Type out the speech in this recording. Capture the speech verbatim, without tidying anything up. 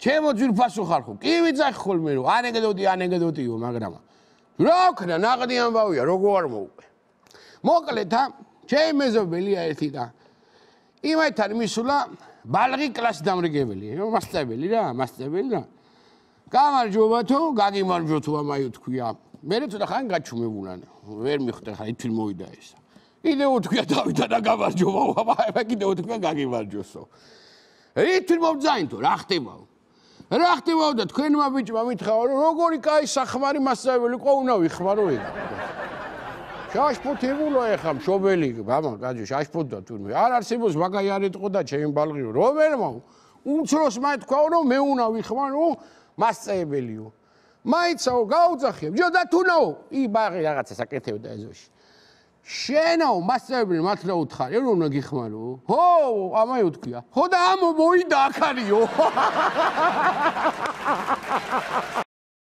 ჩემო ძვირფასო ხარ ხო? კი ვიცახი ხოლმე რომ ანეკდოტი ანეკდოტიო, მაგრამ რა ვქნა, ნაღდი ამბავია, როგორ არ მოუყვე. მოკლედ, ჩემი მეზობელია ერთი და იმათან მისულა ბალღი კლასი დამრიგებელი, მასწავლებელი რა, მასწავლებელი რა. გამარჯობა თუ, გაგიმარჯო თუ ამაი თქვია. მე ცოტა ხანი გაჩუმებულან, ვერ მიხვდა ხა ითვი მოვიდა ესა. კიდე უთქვია დავიდა და გამარჯობა, აბა კიდე უთქვია გაგიმარჯოსო. ითვი მომძაინთო, რა ხდებაო? რა ხდებაო და თქვენმა ბიჭმა მითხრა რომ როგორი კაი სახმარი მასწავლებელი ყო უნდა ვიხმარო ეგ. შაშფოთებულა ეხა მშობელი, მამა, გაჯი შაშფოთდა თურმე. არ არსებობს მაგაი არ ეტყო და ჩემი ბალღი რომელმა უმცროს მე თქვა რომ მე უნდა ვიხმარო მასწავლებელიო. მაიცაო გაუძახებ, ჯო და თუნაო, ი ბაღი რაღაცა საკეთებდა ეზოში. შენაო მასწავლებელი მართლა უთხარი რომ უნდა გიხმარო? ხო, ამაი უთქვია. ხო და ამო მოიდა აქარიო.